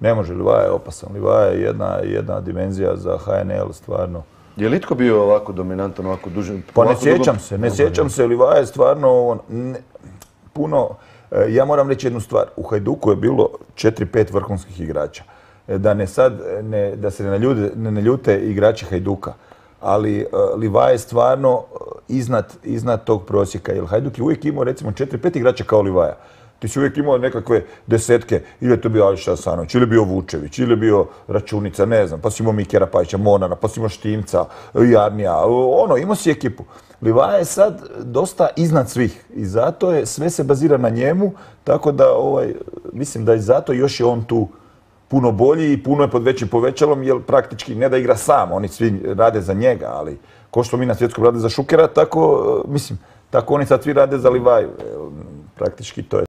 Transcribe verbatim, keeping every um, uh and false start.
Ne može, Livaja je opasan. Livaja je jedna, jedna dimenzija za H N L, stvarno. Je li itko bio ovako dominantan, ovako dužan? Pa ne sjećam se, ne sjećam se. Livaja je stvarno ne, puno... Ja moram reći jednu stvar. U Hajduku je bilo četiri pet vrhunskih igrača. Da, ne sad, ne, da se ne naljute, ne naljute igrači Hajduka. Ali uh, Livaja je stvarno iznad, iznad tog prosjeka. Jer Hajduk je uvijek imao recimo četiri pet igrača kao Livaja. Ti si uvijek imao nekakve desetke, ili je to bio Alša Asanović, ili je bio Vučević, ili je bio Računica, ne znam, pa si imao Mikera Pajića, Monara, pa si imao Štimca, Jarnija, ono, imao si ekipu. Livaja je sad dosta iznad svih i zato je, sve se bazira na njemu, tako da ovaj, mislim da i zato još je on tu puno bolji i puno je pod većim povećalom, jer praktički ne da igra sam, oni svi rade za njega, ali ko što mi na svjetskom rade za Šukera, tako, mislim, tako oni sad svi rade za Livaju. Praktički to je